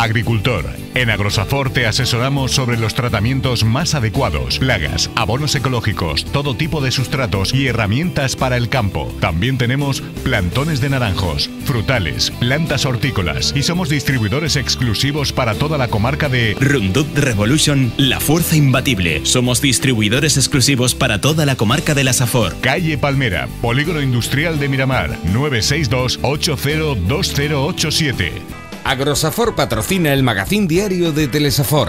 Agricultor. En Agrosafor te asesoramos sobre los tratamientos más adecuados, plagas, abonos ecológicos, todo tipo de sustratos y herramientas para el campo. También tenemos plantones de naranjos, frutales, plantas hortícolas y somos distribuidores exclusivos para toda la comarca de Roundup Revolution, la fuerza imbatible. Somos distribuidores exclusivos para toda la comarca de la Safor. Calle Palmera, Polígono Industrial de Miramar, 962 802087. Agrosafor patrocina el magazín diario de Telesafor.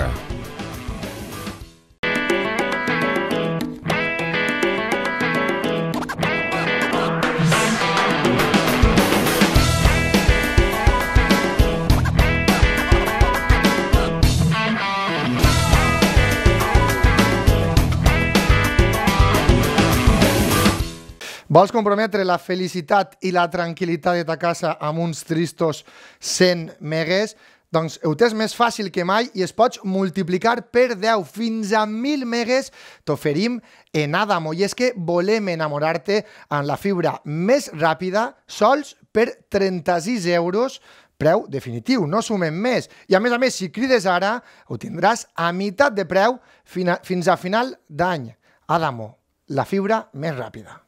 Vols comprometre la felicitat i la tranquil·litat de ta casa amb uns tristos 100 megues? Doncs ho tens més fàcil que mai i es pots multiplicar per 10 fins a 1.000 megues t'oferim en Adamo. I és que volem enamorar-te amb la fibra més ràpida sols per 36 euros, preu definitiu, no sumem més. I a més, si crides ara, ho tindràs a meitat de preu fins a final d'any. Adamo, la fibra més ràpida.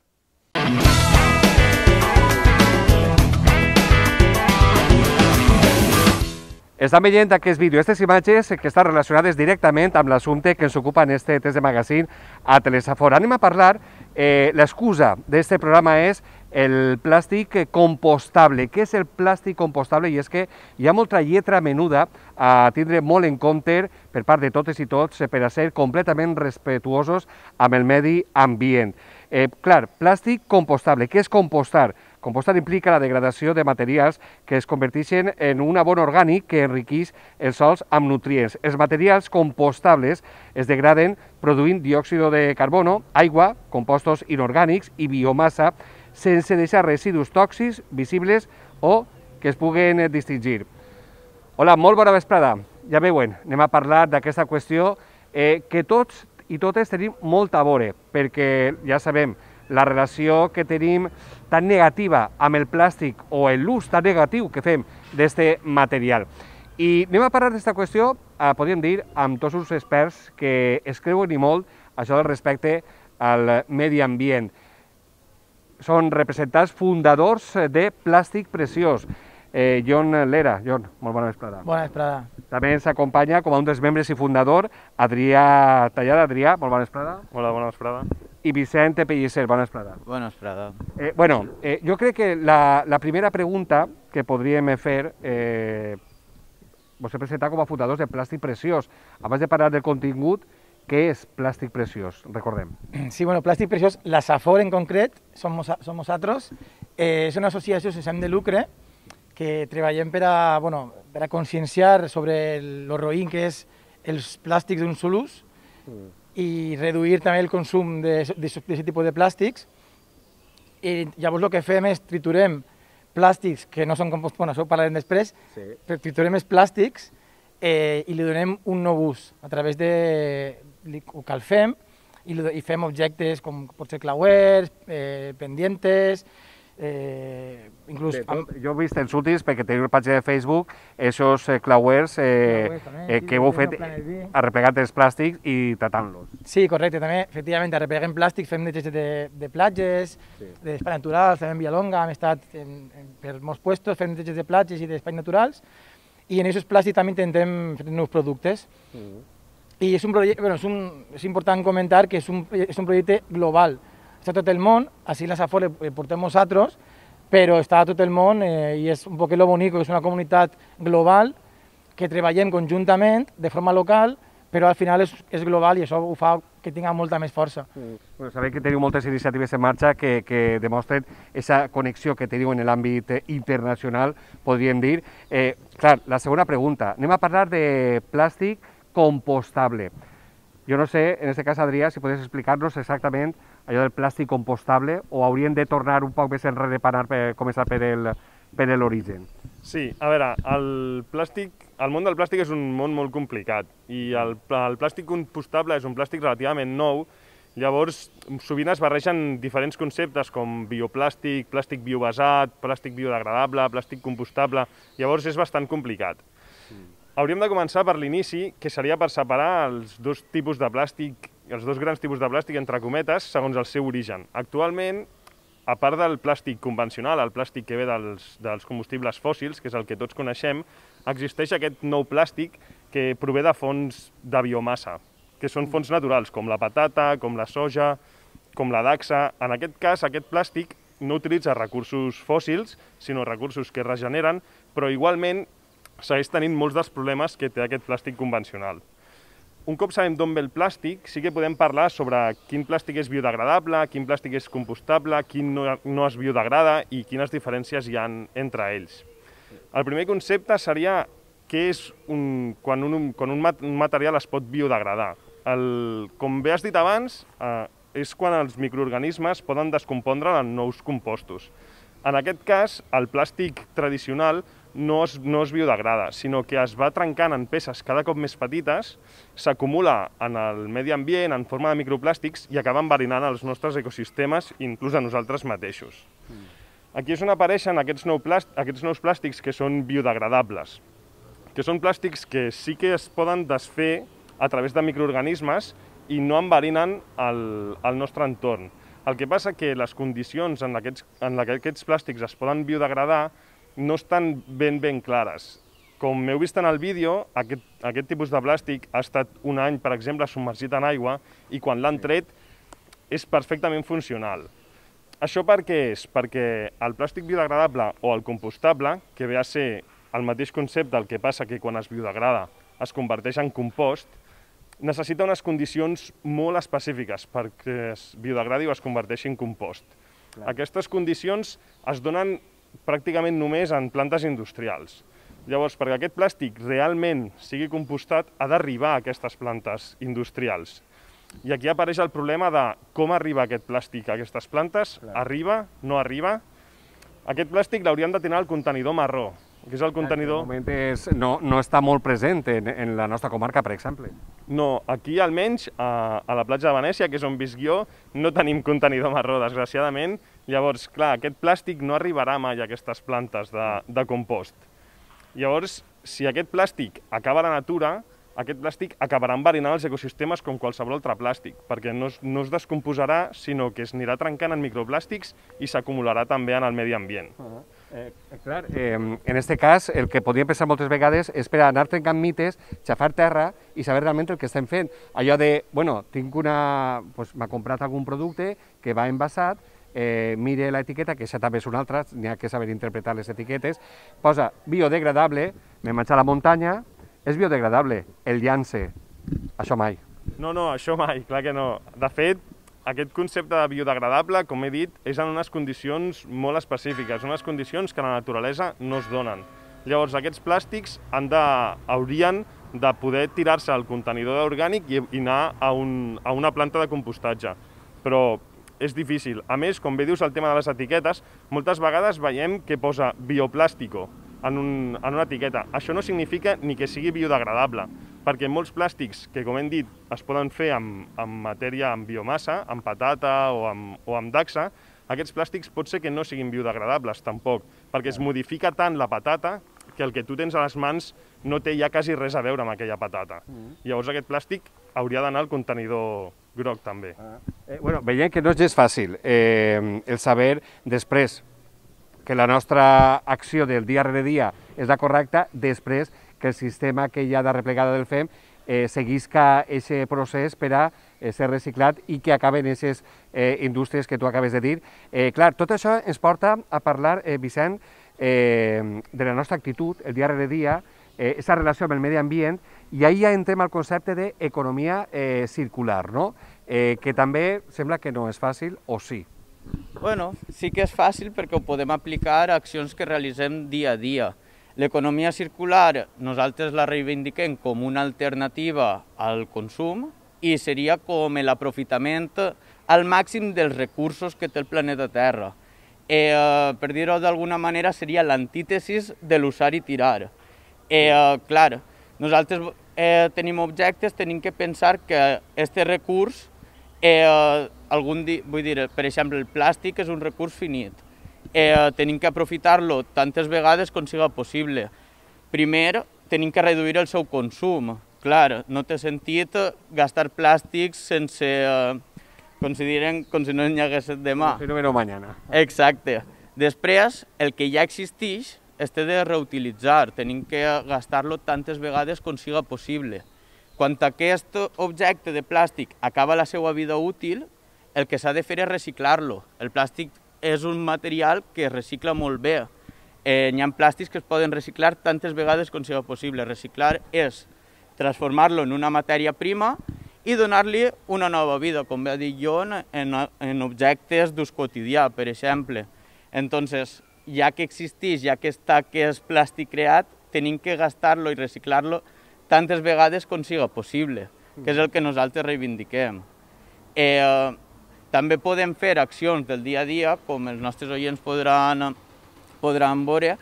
Estan veient aquest vídeo, aquestes imatges que estan relacionades directament amb l'assumpte que ens ocupa en este test de magazín a Telesafor. Anem a parlar, l'excusa d'aquest programa és el plàstic compostable. Què és el plàstic compostable? I és que hi ha molta lletra menuda a tindre molt en compte per part de totes i tots per a ser completament respetuosos amb el medi ambient. Clar, plàstic compostable. Què és compostar? Compostar implica la degradació de materials que es converteixen en un abon orgànic que enriqueix els sòls amb nutrients. Els materials compostables es degraden produint diòxid de carbono, aigua, compostos inorgànics i biomassa sense deixar residus tòxics visibles o que es puguen distingir. Hola, molt bona vesprada. Ja veuen, anem a parlar d'aquesta qüestió que tots i totes tenim molt a veure, perquè ja sabem la relació que tenim tan negativa amb el plàstic o l'ús tan negatiu que fem d'aquest material. I anem a parlar d'aquesta qüestió, podríem dir, amb tots els experts que es creuen i molt això respecte al medi ambient. Són representants fundadors de Plàstic Preciós. Jon Lera. Jon, molt bona vesprada. Bona vesprada. També ens acompanya com a un dels membres i fundador Adrià Tallada. Adrià, molt bona vesprada. Hola, bona vesprada. I Vicent Pellicer, bona vesprada. Bona vesprada. Jo crec que la primera pregunta que podríem fer, vos he presentat com a fundadors de Plàstic Preciós. Abans de parlar del contingut, què és Plàstic Preciós? Recordem. Sí, bueno, Plàstic Preciós, la Safor en concret, som nosaltres, és una associació sense ànim de lucre que treballem per a conscienciar sobre lo roïn que és els plàstics d'un sol ús i reduir també el consum d'aquest tipus de plàstics. I llavors el que fem és triturem plàstics que no són compost, això ho parlarem després, però triturem els plàstics i li donem un nou ús a través de... ho calfem i fem objectes com pot ser clauers, pendientes, inclús... Jo he vist els últims, perquè teniu una pàgina de Facebook, aquests clauers que heu fet arreplegant els plàstics i tratant-los. Sí, correcte, també, efectivament, arrepleguem plàstics, fem neteja de platges, d'espais naturals, també en Villalonga, hem estat per molts llocs, fem neteja de platges i d'espais naturals, i en aquests plàstics també intentem fer nous productes. I és un projecte, és important comentar que és un projecte global. Està a tot el món, així la Safor el portem nosaltres, però està a tot el món i és un poc lo bonic, és una comunitat global que treballem conjuntament, de forma local, però al final és global i això ho fa que tinga molta més força. Sabem que teniu moltes iniciatives en marxa que demostren aquesta connexió que teniu en l'àmbit internacional, podríem dir. Clar, la segona pregunta, anem a parlar de plàstic compostable. Jo no sé, en aquest cas, Adrià, si podries explicar-nos exactament allò del plàstic compostable o hauríem de tornar un poc més enrere per començar per l'origen. Sí, a veure, el món del plàstic és un món molt complicat i el plàstic compostable és un plàstic relativament nou, llavors sovint es barregen diferents conceptes com bioplàstic, plàstic biobasat, plàstic biodegradable, plàstic compostable, llavors és bastant complicat. Hauríem de començar per l'inici, que seria per separar els dos tipus de plàstic, els dos grans tipus de plàstic, entre cometes, segons el seu origen. Actualment, a part del plàstic convencional, el plàstic que ve dels combustibles fòssils, que és el que tots coneixem, existeix aquest nou plàstic que prové de fonts de biomassa, que són fonts naturals, com la patata, com la soja, com la dacsa. En aquest cas, aquest plàstic no utilitza recursos fòssils, sinó recursos que es regeneren, però igualment segueix tenint molts dels problemes que té aquest plàstic convencional. Un cop sabem d'on ve el plàstic, sí que podem parlar sobre quin plàstic és biodegradable, quin plàstic és compostable, quin no es biodegrada i quines diferències hi ha entre ells. El primer concepte seria què és quan un material es pot biodegradar. Com bé has dit abans, és quan els microorganismes poden descompondre en nous compostos. En aquest cas, el plàstic tradicional no es biodegrada, sinó que es va trencant en peces cada cop més petites, s'acumula en el medi ambient en forma de microplàstics i acaba enverinant els nostres ecosistemes, inclús a nosaltres mateixos. Aquí és on apareixen aquests nous plàstics que són biodegradables, que són plàstics que sí que es poden desfer a través de microorganismes i no enverinen el nostre entorn. El que passa que les condicions en què aquests plàstics es poden biodegradar no estan ben clares. Com heu vist en el vídeo, aquest tipus de plàstic ha estat un any, per exemple, submergit en aigua i quan l'han tret és perfectament funcional. Això per què és? Perquè el plàstic biodegradable o el compostable, que ve a ser el mateix concepte, el que passa que quan es biodegrada es converteix en compost, necessita unes condicions molt específiques perquè es biodegradi o es converteixi en compost. Aquestes condicions es donen pràcticament només en plantes industrials. Llavors, perquè aquest plàstic realment sigui compostat, ha d'arribar a aquestes plantes industrials. I aquí apareix el problema de com arriba aquest plàstic a aquestes plantes, arriba, no arriba. Aquest plàstic l'hauríem de tenir al contenidor marró, que és el contenidor... En aquest moment no està molt present en la nostra comarca, per exemple. No, aquí almenys, a la platja de Venècia, que és on visc jo, no tenim contenidor marró, desgraciadament. Llavors, clar, aquest plàstic no arribarà mai a aquestes plantes de compost. Llavors, si aquest plàstic acaba a la natura, aquest plàstic acabarà enverinant els ecosistemes com qualsevol altre plàstic, perquè no es descomposarà, sinó que es anirà trencant en microplàstics i s'acumularà també en el medi ambient. Clar, en aquest cas, el que podríem pensar moltes vegades és per anar trencant mites, xafar terra i saber realment el que estem fent. Allò de, bueno, m'ha comprat algun producte que va envasat, mire l'etiqueta, que això també és una altra, n'hi ha que saber interpretar les etiquetes, posa biodegradable, me menja a la muntanya, és biodegradable, el llance, això mai. No, això mai, clar que no. De fet, aquest concepte de biodegradable, com he dit, és en unes condicions molt específiques, unes condicions que a la naturalesa no es donen. Llavors, aquests plàstics haurien de poder tirar-se al contenidor orgànic i anar a una planta de compostatge. Però és difícil. A més, com bé dius el tema de les etiquetes, moltes vegades veiem que posa bioplàstico en una etiqueta. Això no significa ni que sigui biodegradable, perquè molts plàstics que, com hem dit, es poden fer amb matèria, amb biomassa, amb patata o amb dacsa, aquests plàstics pot ser que no siguin biodegradables tampoc, perquè es modifica tant la patata que el que tu tens a les mans no té ja quasi res a veure amb aquella patata. Llavors aquest plàstic hauria d'anar al contenidor groc també. Veiem que no és gens fàcil el saber després que la nostra acció del dia rere dia és la correcta, després que el sistema que hi ha de replegada del FEM seguisca aquest procés per a ser reciclat i que acaben aquestes indústries que tu acabes de dir. Clar, tot això ens porta a parlar, Vicent, de la nostra actitud, el dia rere dia, aquesta relació amb el medi ambient, i ahir ja entrem al concepte d'economia circular, no? Que també sembla que no és fàcil, o sí? Bueno, sí que és fàcil perquè ho podem aplicar a accions que realitzem dia a dia. L'economia circular nosaltres la reivindiquem com una alternativa al consum i seria com l'aprofitament al màxim dels recursos que té el planeta Terra. Per dir-ho d'alguna manera, seria l'antítesis de l'usar i tirar. Clar, nosaltres tenim objectes, tenim que pensar que aquest recurs, vull dir, per exemple, el plàstic és un recurs finit. Tenim que aprofitar-lo tantes vegades com siga possible. Primer, tenim que reduir el seu consum. Clar, no té sentit gastar plàstics sense, com si no n'hi hagués demà. Si no veno mañana. Exacte. Després, el que ja existeix es té de reutilitzar, tenim que gastar-lo tantes vegades com siga possible. Quan aquest objecte de plàstic acaba la seva vida útil, el que s'ha de fer és reciclar-lo. El plàstic és un material que es recicla molt bé. Hi ha plàstics que es poden reciclar tantes vegades com siga possible. Reciclar és transformar-lo en una matèria prima i donar-li una nova vida, com va dir Jon, en objectes d'ús quotidià, per exemple. Entonces, ja que existeix, ja que està aquest plàstic creat, tenim que gastar-lo i reciclar-lo tantes vegades com siga possible, que és el que nosaltres reivindiquem. També podem fer accions del dia a dia, com els nostres oients podran veure,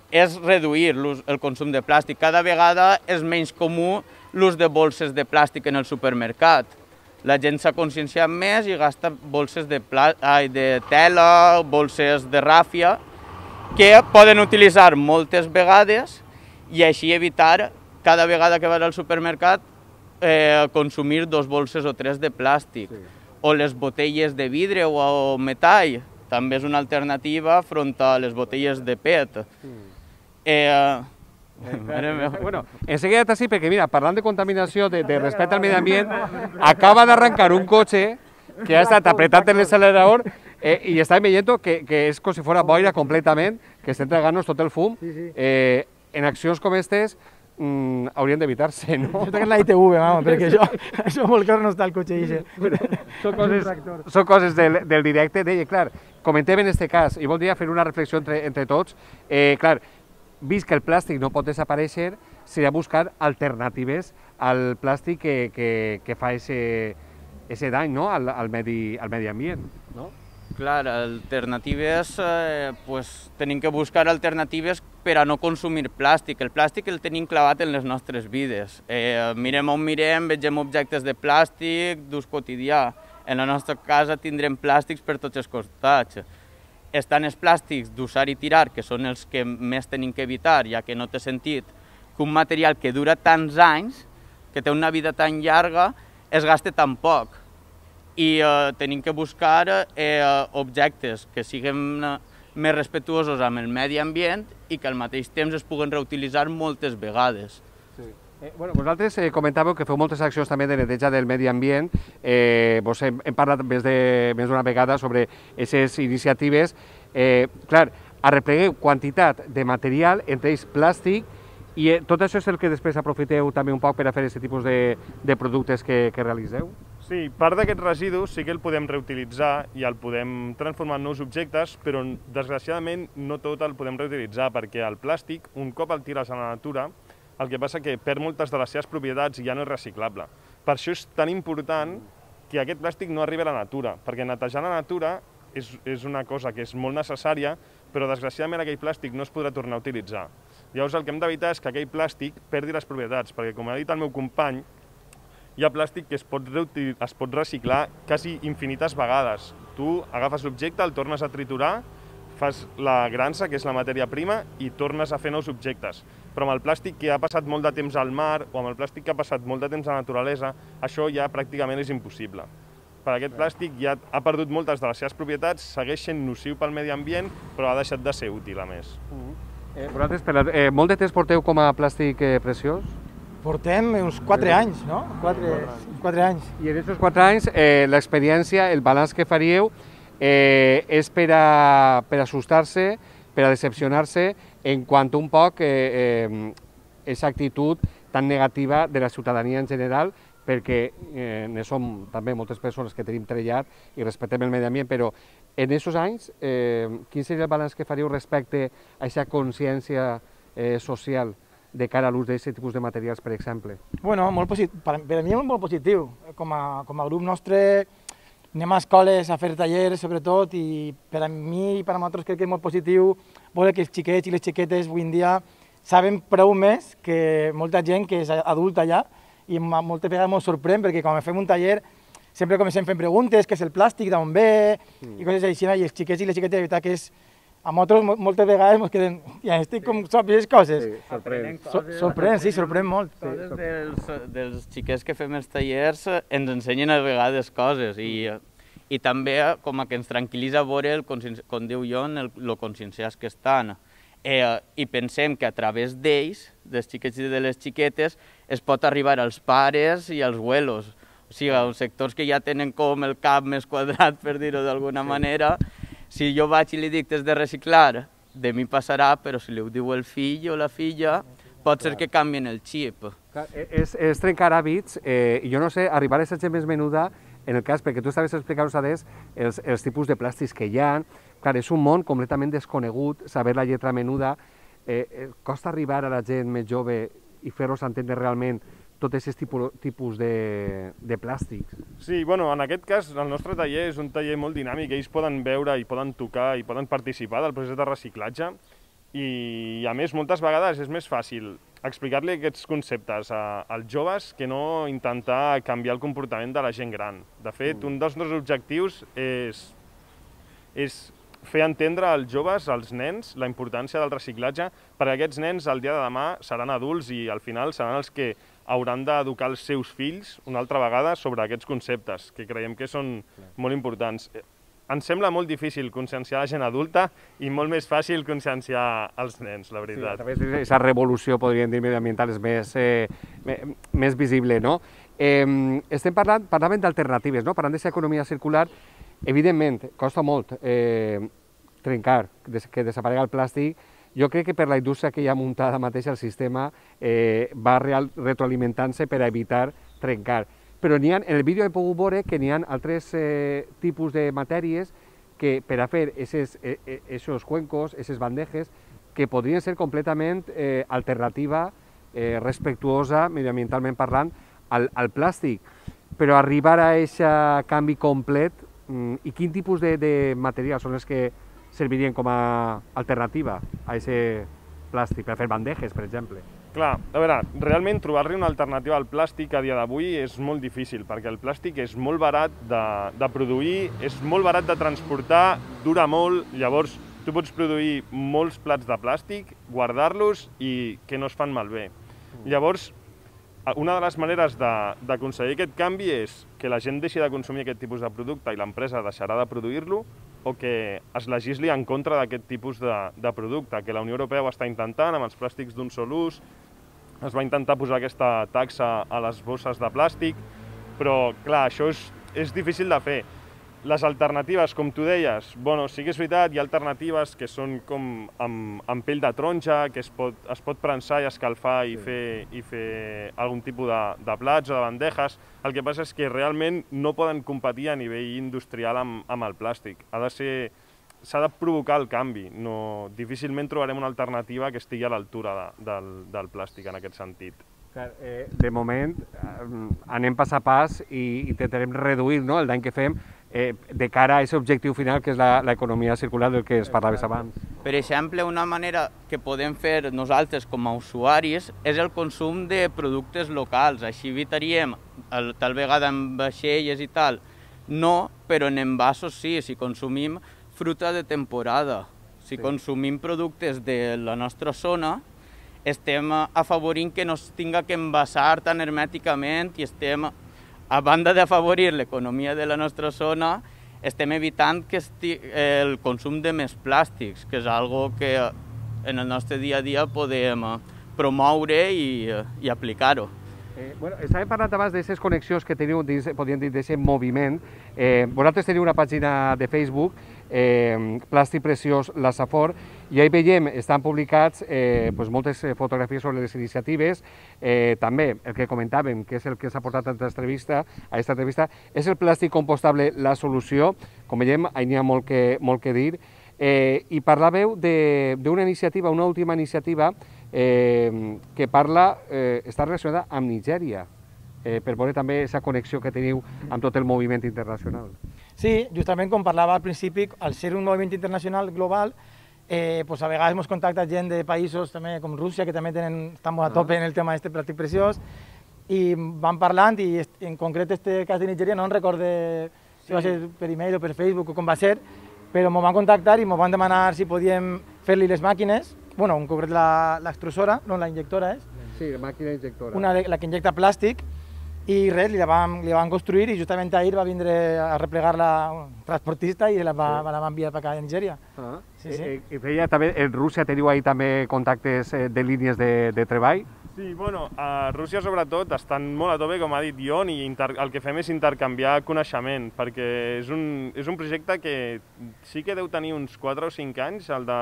és reduir el consum de plàstic. Cada vegada és menys comú l'ús de bolses de plàstic en el supermercat. La gent s'ha conscienciat més i gasta bolses de tela, bolses de ràfia, que poden utilitzar moltes vegades i així evitar cada vegada que vas al supermercat consumir 2 bolses o 3 de plàstic. O les botelles de vidre o metall, també és una alternativa front a les botelles de PET. Bueno, enseguida t'ací, perquè mira, parlant de contaminació, de respecte al medi ambient, acaba d'arrencar un cotxe que ha estat apretat en l'accelerador i està veient que és com si fos boira completament, que està entregant-nos tot el fum. En accions com aquestes haurien d'evitar-se, no? Això és la ITV, mama, perquè això molt clar no està el cotxe i Són coses del directe. Deia, clar, comentem en aquest cas, i voldria fer una reflexió entre tots, clar, vist que el plàstic no pot desaparèixer, seria buscar alternatives al plàstic que fa ese dany, no?, al medi ambient, no? Clar, alternatives, tenim que buscar alternatives per a no consumir plàstic. El plàstic el tenim clavat en les nostres vides. Mirem on mirem, vegem objectes de plàstic d'ús quotidià. En la nostra casa tindrem plàstics per tots els costats. Estan els plàstics d'usar i tirar, que són els que més tenim que evitar, ja que no té sentit que un material que dura tants anys, que té una vida tan llarga, es gaste tan poc. I tenim que buscar objectes que siguin més respectuosos amb el medi ambient i que al mateix temps es puguen reutilitzar moltes vegades. Bueno, vosaltres comentàveu que feu moltes accions també de neteja del medi ambient. Vos hem parlat més d'una vegada sobre aquestes iniciatives. Clar, arreplegueu quantitat de material, entre ells plàstic, i tot això és el que després aprofiteu també un poc per a fer aquest tipus de productes que realitzeu? Sí, part d'aquest residu sí que el podem reutilitzar i el podem transformar en nous objectes, però desgraciadament no tot el podem reutilitzar, perquè el plàstic, un cop el tires a la natura, el que passa que perd moltes de les seves propietats i ja no és reciclable. Per això és tan important que aquest plàstic no arribi a la natura, perquè netejar la natura és una cosa que és molt necessària, però desgraciadament aquell plàstic no es podrà tornar a utilitzar. Llavors el que hem d'evitar és que aquell plàstic perdi les propietats, perquè com ha dit el meu company, hi ha plàstic que es pot reciclar quasi infinites vegades. Tu agafes l'objecte, el tornes a triturar, fas la grança, que és la matèria prima, i tornes a fer nous objectes. Però amb el plàstic que ha passat molt de temps al mar o amb el plàstic que ha passat molt de temps a la naturalesa, això ja pràcticament és impossible. Per aquest plàstic ja ha perdut moltes de les seves propietats, segueix sent nociu pel medi ambient, però ha deixat de ser útil, a més. Vosaltres, molt de temps porteu com a plàstic preciós? Portem uns 4 anys, no? 4 anys. I en aquests 4 anys, l'experiència, el balanç que faríeu, és per a assustar-se, per a decepcionar-se, en quant un poc aquesta actitud tan negativa de la ciutadania en general, perquè ne som també moltes persones que tenim treballat i respectem el medi ambient, però en aquests anys, quin seria el balanç que faríeu respecte a aquesta consciència social de cara a l'ús d'aquest tipus de materials, per exemple? Bueno, per a mi és molt positiu. Com a grup nostre anem a escoles a fer tallers, sobretot, i per a mi i per a nosaltres crec que és molt positiu veure que els xiquets i les xiquetes avui en dia saben prou més que molta gent que és adulta ja, i moltes vegades ens sorprèn perquè quan fem un taller sempre comencem fent preguntes, què és el plàstic, d'on ve, i coses així, i els xiquets i les xiquetes de veritat que és a nosaltres moltes vegades ens quedem, ja estic com sap les coses. Sí, sorprèn. Sorprèn molt. Coses dels xiquets que fem els tallers ens ensenyen a vegades coses i també com que ens tranquil·litza veure, com diu Jon, el conscienciats que estan. I pensem que a través d'ells, dels xiquets i de les xiquetes, es pot arribar als pares i als abuelos. O sigui, als sectors que ja tenen com el cap més quadrat, per dir-ho d'alguna manera, si jo vaig i li dic que és de reciclar, de mi passarà, però si li ho diu el fill o la filla, pot ser que canvien el xip. És trencar hàbits, i jo no sé, arribar a ser gent més menuda, en el cas, perquè tu estaves explicant-nos adés els tipus de plàstics que hi ha. Clar, és un món completament desconegut, saber la lletra menuda. Costa arribar a la gent més jove i fer-los entendre realment tots aquests tipus de plàstics. Sí, bueno, en aquest cas el nostre taller és un taller molt dinàmic, ells poden veure i poden tocar i poden participar del procés de reciclatge i a més moltes vegades és més fàcil explicar-li aquests conceptes als joves que no intentar canviar el comportament de la gent gran. De fet, un dels nostres objectius és fer entendre als joves, als nens, la importància del reciclatge, perquè aquests nens el dia de demà seran adults i al final seran els que hauran d'educar els seus fills una altra vegada sobre aquests conceptes, que creiem que són molt importants. Ens sembla molt difícil conscienciar la gent adulta i molt més fàcil conscienciar els nens, la veritat. Sí, a través d'aquesta revolució, podríem dir, mediambiental és més visible, no? Estem parlant d'alternatives, no? Parlant d'aquesta economia circular, evidentment, costa molt trencar, que desaparega el plàstic. Jo crec que per la indústria que hi ha muntada mateix el sistema va retroalimentant-se per a evitar trencar. Però en el vídeo he pogut veure que n'hi ha altres tipus de matèries que per a fer aquests cuencos, aquestes bandejes, que podrien ser completament alternativa, respectuosa, mediambientalment parlant, al plàstic. Però arribar a aquest canvi complet, i quin tipus de materials són els que servirien com a alternativa a aquest plàstic, per a fer bandejes, per exemple? Clar, a veure, realment trobar-li una alternativa al plàstic a dia d'avui és molt difícil, perquè el plàstic és molt barat de produir, és molt barat de transportar, dura molt, llavors tu pots produir molts plats de plàstic, guardar-los i que no es fan malbé. Llavors, una de les maneres d'aconseguir aquest canvi és que la gent deixi de consumir aquest tipus de producte i l'empresa deixarà de produir-lo, o que es legisli en contra d'aquest tipus de producte, que la Unió Europea ho està intentant amb els plàstics d'un sol ús, es va intentar posar aquesta taxa a les bosses de plàstic, però clar, això és difícil de fer. Les alternatives, com tu deies, bueno, sí que és veritat, hi ha alternatives que són com amb pell de taronja, que es pot prensar i escalfar i fer algun tipus de plats o de bandejes. El que passa és que realment no poden competir a nivell industrial amb el plàstic. S'ha de provocar el canvi. Difícilment trobarem una alternativa que estigui a l'altura del plàstic en aquest sentit. De moment anem pas a pas i intentarem reduir el dany que fem de cara a aquest objectiu final que és l'economia circular del que es parlaves abans. Per exemple, una manera que podem fer nosaltres com a usuaris és el consum de productes locals. Així evitaríem, tal vegada en vaixelles i tal, no, però en envasos sí, si consumim fruita de temporada, si consumim productes de la nostra zona, estem afavorint que no es tinga que envasar tan hermèticament i estem, a banda d'afavorir l'economia de la nostra zona, estem evitant el consum de més plàstics, que és algo que en el nostre dia a dia podem promoure i aplicar-ho. Estàvem parlant abans d'aquestes connexions que teniu, podríem dir, d'aquest moviment. Vosaltres teniu una pàgina de Facebook, Plàstic Preciós La Safor, i ahí veiem, estan publicats moltes fotografies sobre les iniciatives. També el que comentàvem, que és el que s'ha portat a aquesta entrevista, és el plàstic compostable la solució. Com veiem, hi ha molt que dir. I parlàveu d'una iniciativa, una última iniciativa, que està relacionada amb Nigèria, per veure també aquesta connexió que teniu amb tot el moviment internacional. Sí, justament com parlava al principi, al ser un moviment internacional global, a vegades ens contacta gent de països com Rússia, que també estan molt a tope en el tema d'aquest plàstic preciós, i van parlant, i en concret aquest cas de Nigèria no en recorde si va ser per e-mail o per Facebook o com va ser, però m'ho van contactar i m'ho van demanar si podíem fer-li les màquines, bueno, en concret l'extrusora, no, la injectora és. Sí, la màquina injectora. La que injecta plàstic, i res, li la van construir i justament ahir va vindre a replegar-la un transportista i la va enviar per acá a Nigèria. I feia també, en Rússia teniu ahir també contactes de línies de treball? Sí, bueno, a Rússia sobretot estan molt a tope, com ha dit Ion, i el que fem és intercanviar coneixement, perquè és un projecte que sí que deu tenir uns 4 o 5 anys, el de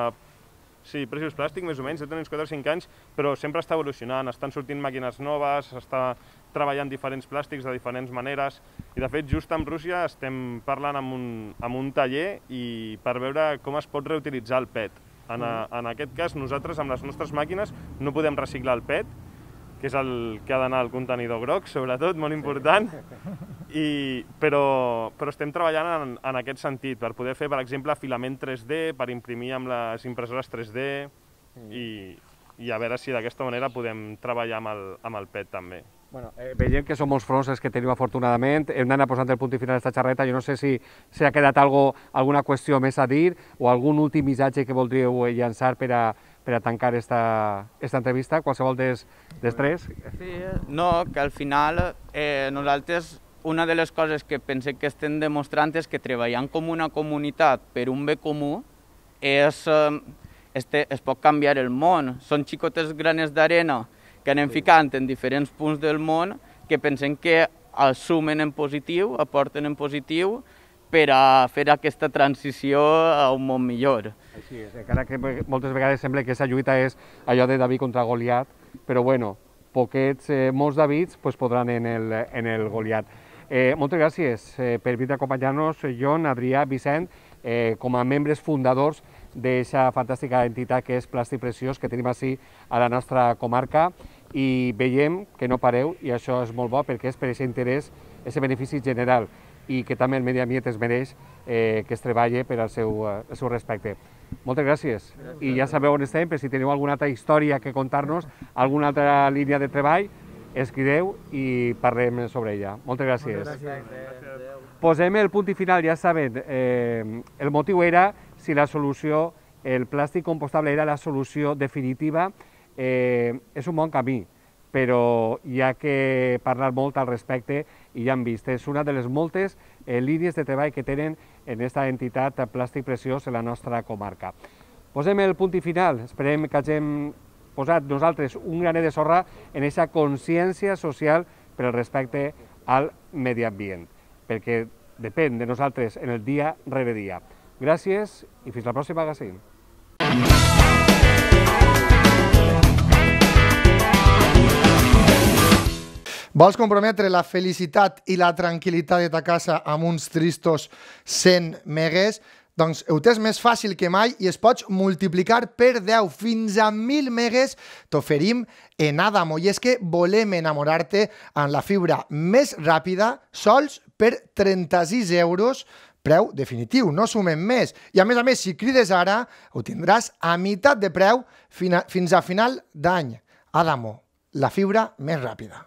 Precious Plastic, més o menys, deu tenir uns 4 o 5 anys, però sempre està evolucionant, estan sortint màquines noves, s'està treballant diferents plàstics de diferents maneres, i de fet just amb Rússia estem parlant amb un taller i per veure com es pot reutilitzar el PET. En aquest cas, nosaltres amb les nostres màquines no podem reciclar el PET, que és el que ha d'anar al contenidor groc, sobretot, molt important, però estem treballant en aquest sentit, per poder fer, per exemple, filament 3D, per imprimir amb les impressores 3D, i a veure si d'aquesta manera podem treballar amb el PET també. Veiem que som molts fronts els que tenim afortunadament, hem d'anar posant el punt i final a aquesta xerreta, jo no sé si ha quedat alguna qüestió més a dir o algun últim missatge que voldríeu llançar per a tancar aquesta entrevista, qualsevol dels tres. Sí, no, que al final nosaltres una de les coses que pensem que estem demostrant és que treballant com una comunitat per un bé comú es pot canviar el món. Són xicotes granes d'arena que anem ficant en diferents punts del món que pensem que els sumen en positiu, aporten en positiu per a fer aquesta transició a un món millor. Així és, encara que moltes vegades sembla que aquesta lluita és allò de David contra Goliat, però bueno, molts Davids podran en el Goliat. Moltes gràcies per venir a acompanyar-nos, Jon, Adrià, Vicent, com a membres fundadors d'aquesta fantàstica entitat que és Plàstic Preciós, que tenim així a la nostra comarca, i veiem que no pareu, i això és molt bo perquè és per aquest interès, aquest benefici general, i que també el medi ambient es mereix que es treballi per al seu respecte. Moltes gràcies. I ja sabeu on estem, per si teniu alguna altra història que contar-nos, alguna altra línia de treball, escriveu i parlem sobre ella. Moltes gràcies. Posem el punt i final, ja saben, el motiu era si la solució, el plàstic compostable era la solució definitiva. És un bon camí, però hi ha que parlar molt al respecte i ja hem vist, és una de les moltes línies de treball que tenen en aquesta entitat Plàstic Preciós en la nostra comarca. Posem el punt i final, esperem que hagin posat nosaltres un granet de sorra en aquesta consciència social per al respecte al medi ambient, perquè depèn de nosaltres en el dia rere dia. Gràcies i fins al pròxim magazín. Vols comprometre la felicitat i la tranquil·litat de ta casa amb uns tristos 100 megues? Doncs ho tens més fàcil que mai i es pots multiplicar per 10 fins a 1.000 megues t'oferim en Adamo. I és que volem enamorar-te amb la fibra més ràpida sols per 36 euros, preu definitiu, no sumem més. I a més, si crides ara, ho tindràs a meitat de preu fins a final d'any. Adamo, la fibra més ràpida.